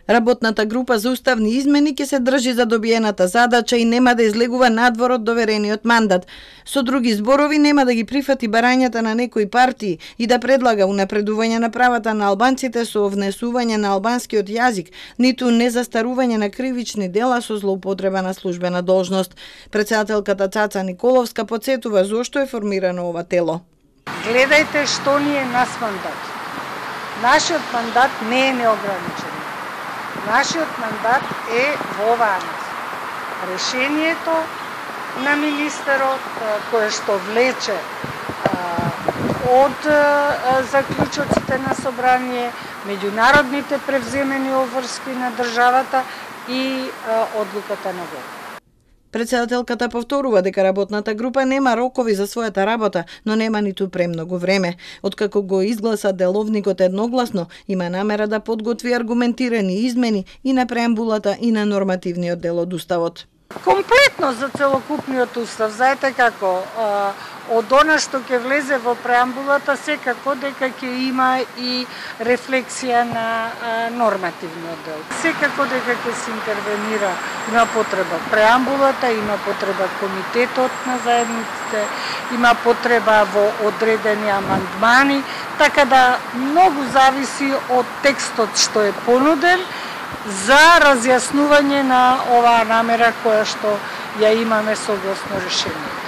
Работната група за уставни измени ќе се држи за добиената задача и нема да излегува надвор од доверениот мандат. Со други зборови, нема да ги прифати барањата на некои партии и да предлага унапредување на правата на албанците со внесување на албанскиот јазик, ниту незастарување на кривични дела со злоупотреба на службена должност. Претседателката Цаца Николовска потсетува зошто е формирано ова тело. Гледајте што ни е нас мандат. Нашиот мандат не е неограничен. Нашиот мандат е во оваа нас. Решението на министерот кое што влече од заклучоците на собрание, меѓународните превземени обврски на државата и одлуката на власта. Претседателката повторува дека работната група нема рокови за својата работа, но нема ниту премногу време. Откако го изгласа деловникот едногласно, има намера да подготви аргументирани измени и на преамбулата и на нормативниот дел од уставот. Комплетно за целокупниот устав, знаете како, од она што ќе влезе во преамбулата, секако дека ќе има и рефлексија на нормативниот дел. Секако дека ќе се интервенира, има потреба преамбулата, има потреба комитетот на заедниците, има потреба во одредени амандмани, така да многу зависи од текстот што е понуден за разјаснување на оваа намера која што ја имаме согласно решението.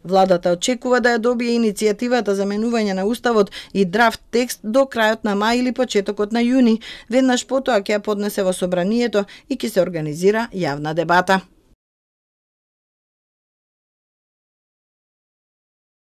Владата очекува да ја добие иницијативата за менување на уставот и драфт текст до крајот на мај или почетокот на јуни. Веднаш потоа ќе ја поднесе во собранието и ќе се организира јавна дебата.